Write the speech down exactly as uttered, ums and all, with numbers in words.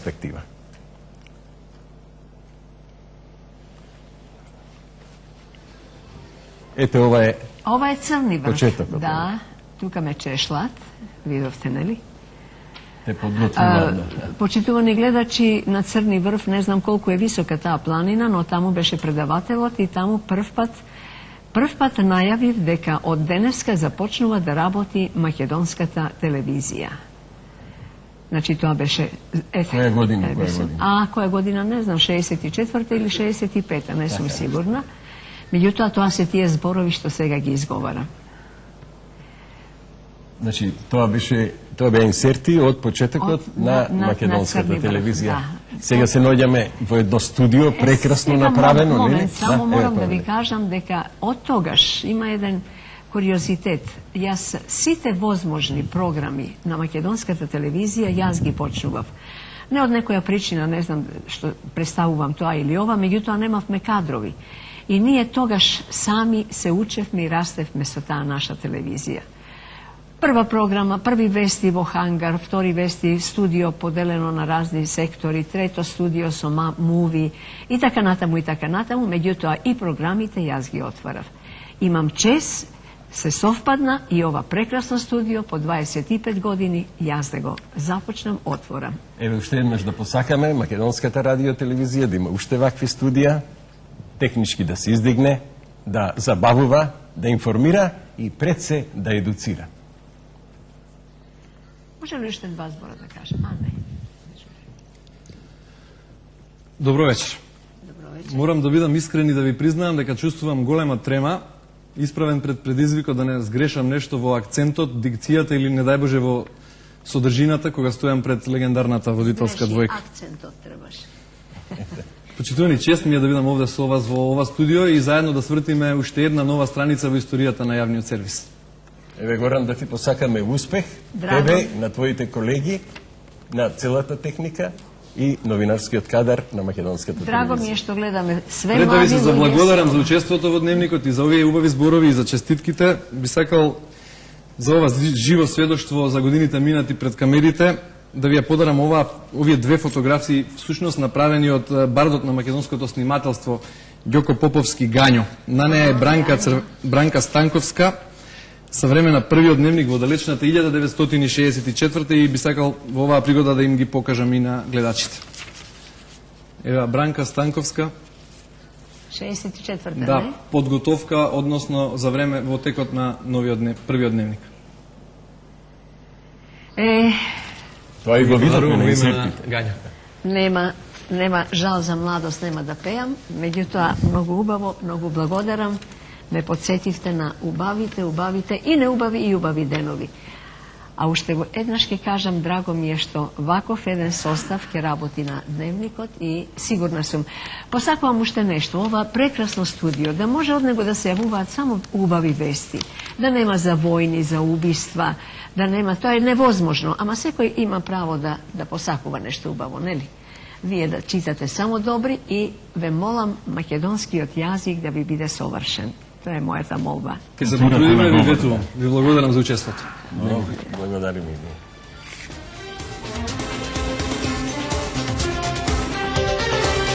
перспектива. Ете, ова е Ова е Црни врв. почетокот. Да, тука ме чешлат, видовте, нели? Те подготвувам. Почитувани гледачи, на Црни врв, не знам колку е висока таа планина, но таму беше предавателот и таму прв пат прв пат најавив дека од денеска започнува да работи македонската телевизија. Значи тоа беше ете, Која година, е, која беше- година? А, која година не знам, шеесет и четврта или шеесет и пета, не сум сигурна. Меѓутоа тоа се тие зборови што сега ги изговара. Значи, тоа беше тоа беа инсерти од почетокот Од- на, на- на- македонската на Црни врв, телевизија. да. Сега се наоѓаме во едно студио прекрасно Сега, направено, нели? момент, само Да, морам ево, да ви тоа. кажам дека од тогаш има еден куриозитет. Јас сите возможни програми на македонската телевизија јас ги почнував. Не од некоја причина, не знам што представувам тоа или ова, меѓутоа немавме кадрови. И ние тогаш сами се учевме и растевме со таа наша телевизија. Прва програма, први вести во хангар, втори вести студио поделено на разни сектори, трето студио со муви и така натаму и така натаму, меѓутоа и програмите јас ги отварав. Имам чест, се совпадна и ова прекрасно студио по дваесет и пет години јас да го започнам, отворам. Еве уште еднаш да посакаме македонската радио телевизија да има уште вакви студија, технички да се издигне, да забавува, да информира и пред се да едуцира. Може ли уште два збора да кажем? А, не. Добро вечер. Добро вечер. Морам да бидам искрен и да ви признаам дека чувствувам голема трема, исправен пред предизвикот да не сгрешам нешто во акцентот, дикцијата или не дај Боже во содржината кога стојам пред легендарната водителска Греши, двојка. акцентот требаше. Почитувани, чест ми е да бидам овде со вас во ова студио и заедно да свртиме уште една нова страница во историјата на јавниот сервис. Еве Горан да ти посакаме успех, Драго. тебе, на твоите колеги, на целата техника и новинарскиот кадар на македонската Драго ми телевизија. е што гледаме све Пред да ви млади се луѓе заблагодарам со- за учеството во дневникот и за овие убави зборови и за честитките, би сакал за ова живо сведоштво за годините минати пред камерите да ви ја подарам ова, овие две фотографии, всушност направени од е, бардот на македонското снимателство Ѓоко Поповски Гањо. На неја е Бранка, Цр... Бранка Станковска, со време на првиот дневник во далечната илјада деветстотини шеесет и четврта и би сакал во оваа пригода да им ги покажам и на гледачите. Ева Бранка Станковска, шеесет и четврта, да, не? подготовка, односно за време во текот на новиот днев, првиот дневник. Е, Тоа и го видовме Благодарувам на во име на инсертите. Гања. нема, нема жал за младост, нема да пеам, меѓутоа многу убаво, многу благодарам, ме подсетивте на убавите, убавите и неубави и убави денови. А уште го еднаш ќе кажам, драго ми е што ваков еден состав ќе работи на дневникот и сигурна сум. Посакувам уште нешто, ова прекрасно студио, да може од него да се јавуваат само убави вести, да нема за војни, за убиства, да нема, тоа е невозможно, ама секој има право да, да посакува нешто убаво, нели? Вие да читате само добри и ве молам македонскиот јазик да ви биде совршен. Тоа е мојата молба. Ке се потрудиме, ви ветувам. Ви благодарам за учеството. Благодарим и ние.